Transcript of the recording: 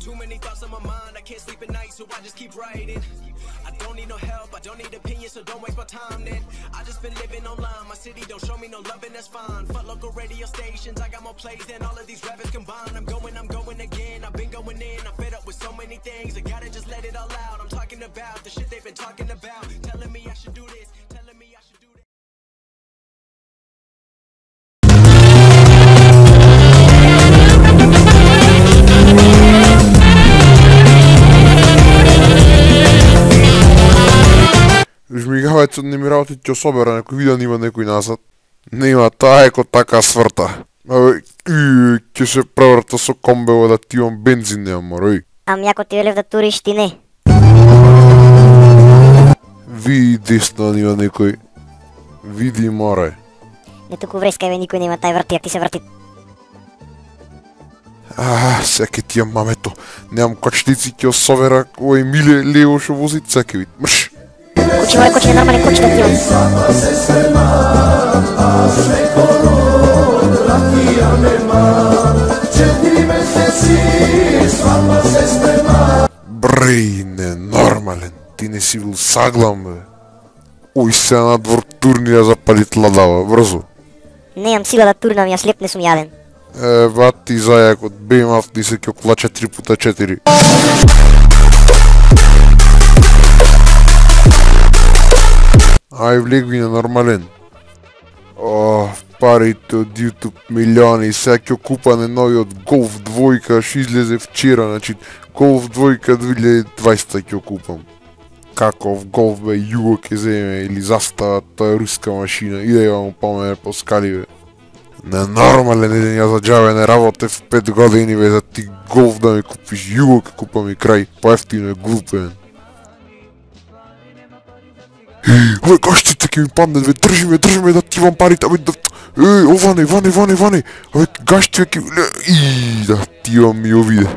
Too many thoughts on my mind, I can't sleep at night, so I just keep writing. I don't need no help, I don't need opinions, so don't waste my time then. I just been living online, my city don't show me no love and that's fine. Fuck local radio stations, I got more plays than all of these rappers combined. I'm going again, I've been going in, I'm fed up with so many things. I gotta just let it all out, I'm talking about the shit they've been talking about. Telling me I should do this, telling me I should do that. Жмигавајцот не ми работи, ќе собера некој видео, има некој назад. Нема, таа еко така сврта. Абе, ќе се преврта со комбево да ти имам бензин, нема морој. Ами ако ти велев да туриш, ти не. Види десно, нема некој. Види море. Не туку вреска, еве никој нема, тај врти, ти се врти. Секе ти имам мамето. Немам кочници, ќе собера овој миле лево шо вози цеке вид. Мрш! Кучи, мој кучи, нормален кучи да ти имам. Брей, ненормален. Ти не си бил саглам, бе. Ој се на двор турни да запалит ладава, брзо. Немам сила да турнам, јас леп не сум јаден. Бат ти зајакот, бемав ти се ќе клача 3x4. Ај влегви ненормален. Парите од YouTube милиони, сега ќе купане новиот Golf 2, што излезе вчера, значи Golf 2 2020 ќе купам. Каков Golf бе, Југо ќе земе или застава, тоа е руска машина, иде ја му помене по скали бе. Ненормален еден ја за џабе не работев 5 години бе, за ти Golf да ми купиш, Југо ќе купам и крај, поевтино е глупен. Ове гаштите ќе ми паднат, бе, држи ме да ти имам парите, бе, да... Ване, ове гаштите ќе... Да ти имам и овиде.